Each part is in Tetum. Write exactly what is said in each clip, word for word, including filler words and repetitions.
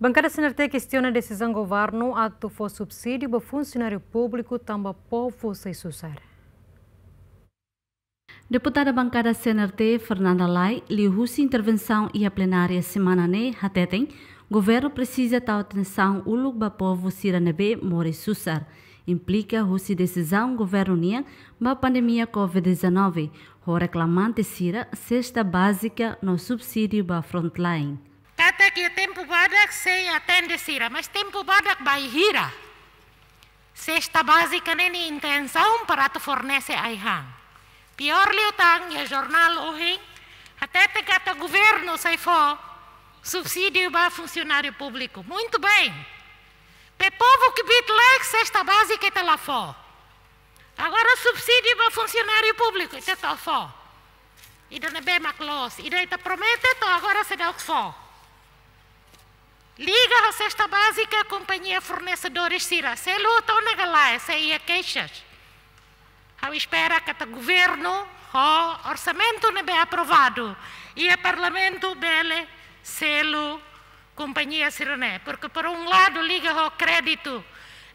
Bankada C N R T kestiona desizaun governu atu fó subsídiu ba funsionáriu públiku tanba povu sai susar. Deputada bankada C N R T, Fernanda Lay, liuhusi intervensaun iha plenária semana ne'e, hateten governu presiza tau atensaun uluk ba povu sira ne'ebé moris susar, implika husi desizaun governu nian ba pandemia covid dezanove, ho reklamante sira, sesta bázika no subsídiu ba frontline. Katak iha tempu badak sei atende sira, mas tempu badak bainhira? Sesta bázika ne'e nia intensaun para atu fornese ai-han. Piór liután, iha jornál ohin hatete katak governu sei fó subsídiu ba funsionáriu públiku. Muito bem. Pe povu kbiit-laek sesta bázika ita la fó. Agora subsídiu ba funsionáriu públiku ita atu fó. Ida ne'ebé mak loos, ida ita promete to'o agora seidauk fó. Liga ho sesta bázika, kompañia fornesedores sira selu to'o ne'e ka lae, se iha keixas? Ha'u espera katak governu ho orsamentu ne'ebé aprovadu iha parlamentu bele selu kompañia sira-ne'e, porque por um lado liga ho kréditu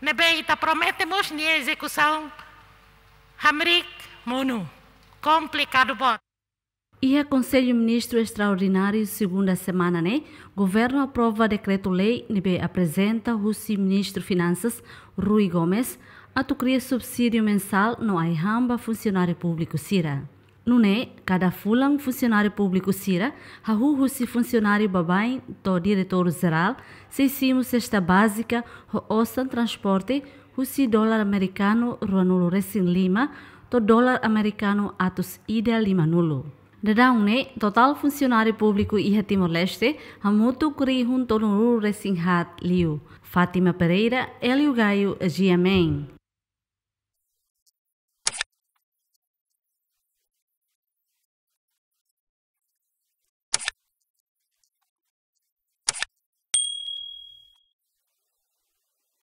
ne'ebé ita promete, mas nia ezekusaun hamriik monu, komplikadu boot. Iha Konsellu Ministru Estraordináriu segunda semana ne'e, governu aprova dekretu-lei ne'ebé aprezenta husi Ministru Finansas, Rui Gomes, atu kria subsídiu mensál no ai-han ba funsionáriu públiku sira. Nune'e, kada fulan funsionáriu públiku sira, hahú husi funsionáriu baibain to'o diretór jerál, sei simu sesta bázika ho osan transporte husi dolar amerikanu ruanulu-resin-lima to'o dolar amerikanu atus ida limanulu. Daudaun ne'e, totál funsionáriu públiku iha Timor-Leste hamutuk rihun-tolunulu-resin-haat liu. Fátima Pereira, Hélio Gaio, G M N.